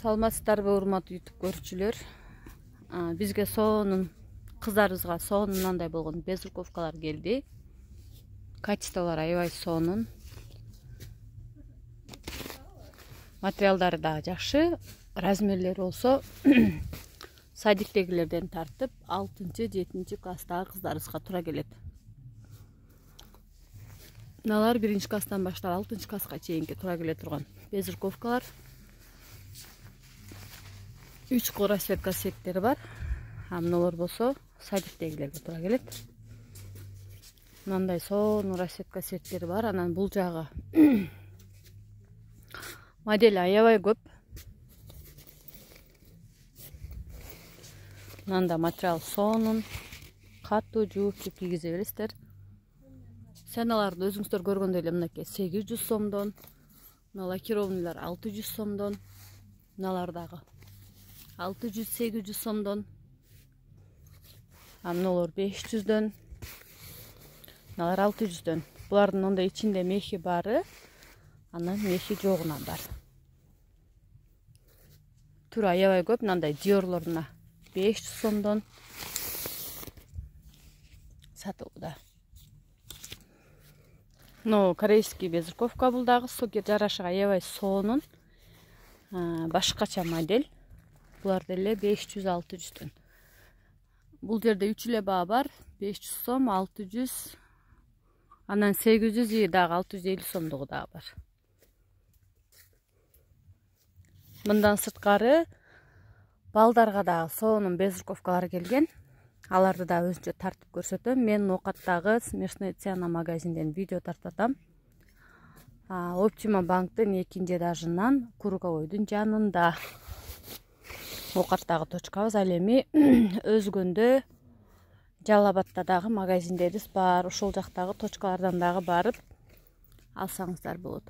Саламатсыздарбы урматтуу YouTube көрүүчүлөр. Бизге соонун кыздарыбызга соонун мындай болгон безруковкалар келди. Качестволору аябай соонун. Материалдары да жакшы. Размерлери болсо садиктегилерден тартып 6-7 класстагы кыздарыбызга туура келет. Мыналар 1-класстан баштап 6-класска чейинки туура келе турган безруковкалар. 3 кол расцветка сеттери бар. Мыналар болсо садиктегилерге туура келет. Мындай сонун расцветка сеттери бар. Анан бул жагы модель аябай көп. Мында материал сонун, катуу жууп кийгизе бересиздер. Сеналарды өзүңүздөр көргөндөй эле мынакей 800 сомдон, мына лакированныйлар 600 сомдон, мыналар дагы 600-800 сомдон, мыналар 500дөн, мыналар 600дөн. Булардын мындай ичинде мехи бары, анан мехи жогунан бар. Түрү аябай көп. Мындай диорлор мына 500 сомдон сатылууда. Но корейский безруковка бул дагы жарашыга аябай соонун. Башкача модель. Булар деле 500-600дөн. Бул жерде 3 эле баа бар. 500 сом, 600, анан 800 и дагы 650 сомдугу дагы бар. Мындан сырткары балдарга дагы соонун безруковкалар келген. Аларды да өзүнчө тартып көрсөтөм. Мен Окаттагы Смешная цена магазинден видео тартып атам. Optima банктын 2 этажынан Круговойдун жанында. Окаттагы точкабыз. Ал эми Өзгөндө, Жалал Абадта дагы магазиндерибиз бар. Ошол жактагы точкалардан дагы барып алсаңыздар болот.